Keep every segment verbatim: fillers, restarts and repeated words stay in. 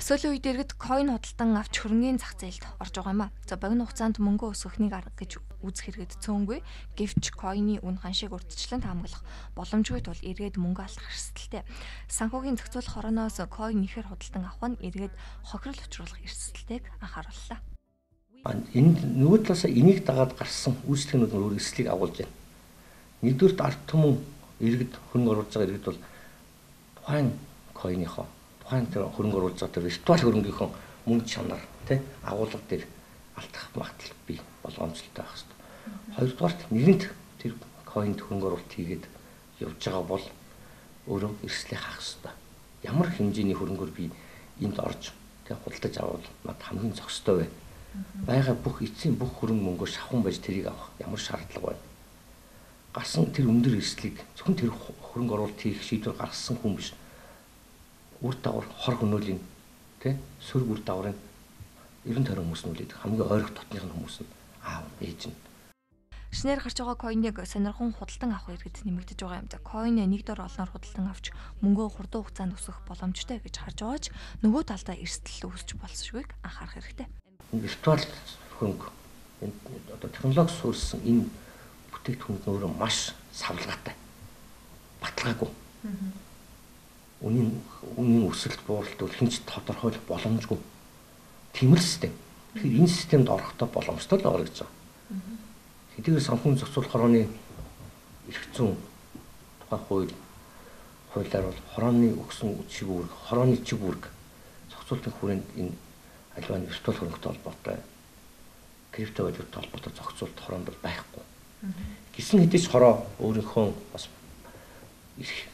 Сүүлийн үед иргэд coin худалдан авч хөрөнгөний зах зээлд орж байгаа юм а. За богино хугацаанд мөнгө өсгөхнийг арга гэж үзэх хэрэгэд цөөнгүй. Гэвч coin-ы үн ханшийг урьдчилан таамаглах боломжгүй тул иргэд мөнгө алдах эрсдэлтэй. Санхүүгийн зохицуулах хорооноос coin ихээр худалдан авах нь иргэд хохирол учруулах эрсдэлтэйг анхаарууллаа. Энэ нөгөө талаас энийг дагаад гарсан үйлчлэгнүүд нь өөр эрсдлийг агуулж байна. Нэгдүгээр ард түмэн иргэд хөрөнгө оруулж байгаа иргэд бол тухайн coin-ийнхоо тухайн тэр хөрөнгө оруулж байгаа тэр виртуал хөрөнгөийнхөө мөнгө чанар тий агуулга дээр алдах магадлал бий боломжтой байх хэвээр. Хоёрдугаарт нэгэнт тэр coin-д хөрөнгө оруулалт хийгээд явж байгаа бол өөрөө эрсдлийг хаах хэвээр. Ямар хэмжээний хөрөнгөөр би энд орж тий худалдаж авал над хамгийн зохистой вэ? Бага бүх эцсийн бүх хөрөнгө мөнгөөр шавхан байж тэрийг авах ямар шаардлага байна? Гарсан тэр өндөр эрсдлийг зөвхөн тэр хөрөнгө оруулалт хийх шийдвэр гаргасан хүн биш. Үр дагавар хор хөнөөлийн тий сөрөг үр дагаврын ерөн тойрон хүмүүс нь үлээд хамгийн ойрох дотных нь хүмүүс нь аав ээж нь. Шинээр гарч байгаа coin-ыг сонирхон худалдан авах иргэд нэмэгдэж байгаа юм. За coin нэг дор олноор худалдан авч мөнгөө хурдан хугацаанд өсгөх боломжтой гэж харж байгаа ч нөгөө талдаа эрсдэл үүсч болсошгүйг анхаарах хэрэгтэй. Виртуал хөрөнгө энэ одоо технологи суурьсан энэ бүтээгдэхүүн өөрөө маш савлгаатай. Баталгаагүй. Үнийн үнийн өсөлт бууралт бол хинч тодорхойлох боломжгүй. Тийм л систем. Тэгэхээр энэ системд орохдоо боломжтой л байгаа гэж байгаа. Хэдийгээр санхүүгийн зохицуулах хорооны эрх зүйн тухай хууль хуулиар бол хорооны өгсөн чиг үүрэг, хорооны чиг үүрэг зохицуулалтын хүрээнд энэ аливаа виртуал хөрөнгөтэй холбоотой криптовалюттай холбоотой зохицуулалт хороонд бол байхгүй. Гисэн хэдий ч хороо өөрийнхөө бас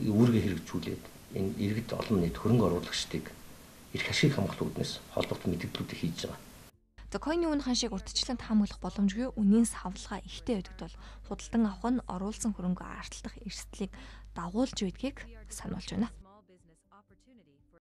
үүргээ хэрэгжүүлээд энэ иргэд олон нийт хөрөнгө оруулагчдыг эрх ашиг хамгаалах үүднээс холбоотой мэдээллүүдийг хийж байгаа. За coin-ы үн ханшийг урьдчилан таамаглах боломжгүй үнийн савлгаа ихтэй байдаг бол худалдан авах нь оруулсан хөрөнгө арталдах эрсдлийг дагуулж байдгийг сануулж байна.